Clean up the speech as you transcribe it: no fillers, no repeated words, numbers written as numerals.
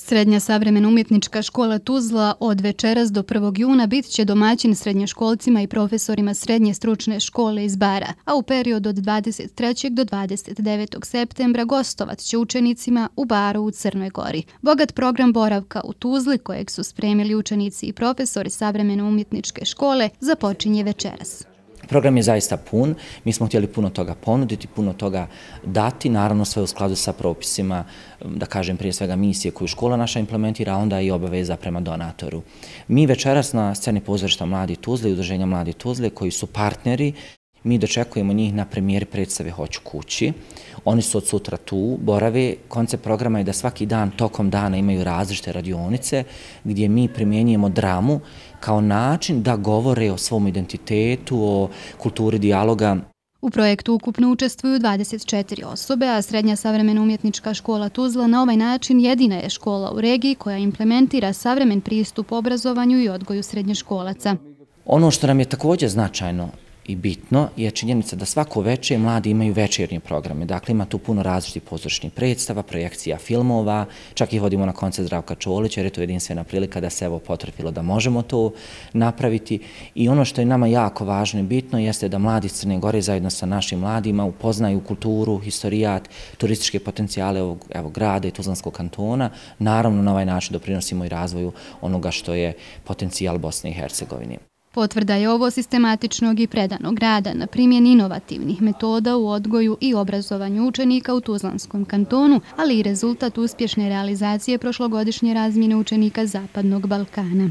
Srednja savremena umjetnička škola Tuzla od večeras do 1. juna bit će domaćin srednjoškolcima i profesorima srednje stručne škole iz Bara, a u periodu od 23. do 29. septembra gostovat će učenicima u Baru u Crnoj Gori. Bogat program boravka u Tuzli, kojeg su spremili učenici i profesori savremene umjetničke škole, započinje večeras. Program je zaista pun, mi smo htjeli puno toga ponuditi, puno toga dati, naravno sve u skladu sa propisima, da kažem prije svega misije koju škola naša implementira, a onda i obaveza prema donatoru. Mi večeras na sceni pozorišta Mladi Tuzle i Udruženja Mladi Tuzle, koji su partneri, mi dočekujemo njih na premijeri predstave Hoću kući. Oni su od sutra tu, borave. Koncept programa je da svaki dan, tokom dana imaju različite radionice gdje mi primjenjujemo dramu kao način da govore o svom identitetu, o kulturi dijaloga. U projektu ukupno učestvuju 24 osobe, a Srednja savremena umjetnička škola Tuzla na ovaj način jedina je škola u regiji koja implementira savremen pristup obrazovanju i odgoju srednjoškolaca. Ono što nam je također značajno i bitno je činjenica da svako večer mladi imaju večernje programe. Dakle, ima tu puno različitih pozorišnih predstava, projekcija filmova, čak i vodimo na koncert Zdravka Čolića jer je to jedinstvena prilika da se evo potrefilo da možemo to napraviti. I ono što je nama jako važno i bitno jeste da mladi iz Crne Gore zajedno sa našim mladima upoznaju kulturu, historijat, turističke potencijale ovog grada i Tuzlanskog kantona. Naravno, na ovaj način doprinosimo i razvoju onoga što je potencijal Bosne i Hercegovine. Potvrda je ovo sistematičnog i predanog rada na primjeni inovativnih metoda u odgoju i obrazovanju učenika u Tuzlanskom kantonu, ali i rezultat uspješne realizacije prošlogodišnje razmjene učenika Zapadnog Balkana.